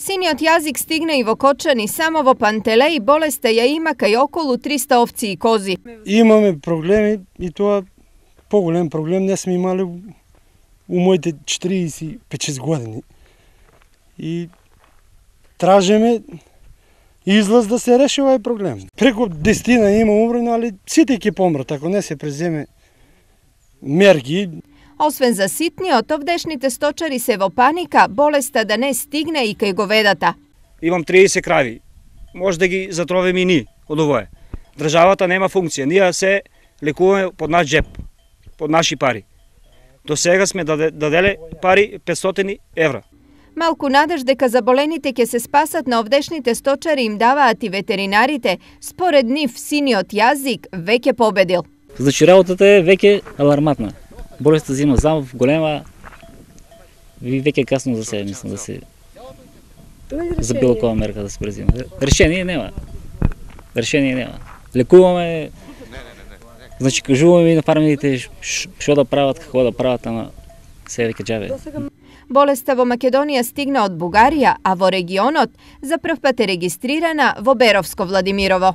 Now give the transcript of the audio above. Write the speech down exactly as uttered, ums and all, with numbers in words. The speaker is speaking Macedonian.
Синиот јазик стигна и во Кочани, само во Пантелеј болеста ја има кај околу триста овци и кози. Имаме проблеми и тоа поголем проблем не сме имали у моите четириесет и пет години. И тражиме излаз да се реши овој проблем. Преку десетина има умрено, али сите ќе помрат ако не се преземе мерки. Освен за ситниот, овдешните сточари се во паника, болеста да не стигне и кај говедата. Имам триесет крави, може да ги затровиме и ние од овое. Државата нема функција, ние се лекуваме под наш джеп, под наши пари. До сега сме даделе пари петстотини евра. Малку надеж дека заболените ќе се спасат на овдешните сточари им даваат и ветеринарите, според нив синиот јазик веќе победил. Значи работата е веќе аларматна. Болестта зима замав голема, ви веќе касно за себе, мислам, да се за било која мерка да се презима. Решение нема. Решение нема. Лекуваме, значи кажуваме и на фармерите што да прават, како да прават, ама се веќе џабе. Болеста во Македонија стигна од Бугарија, а во регионот за прв пат е регистрирана во Беровско Владимирово.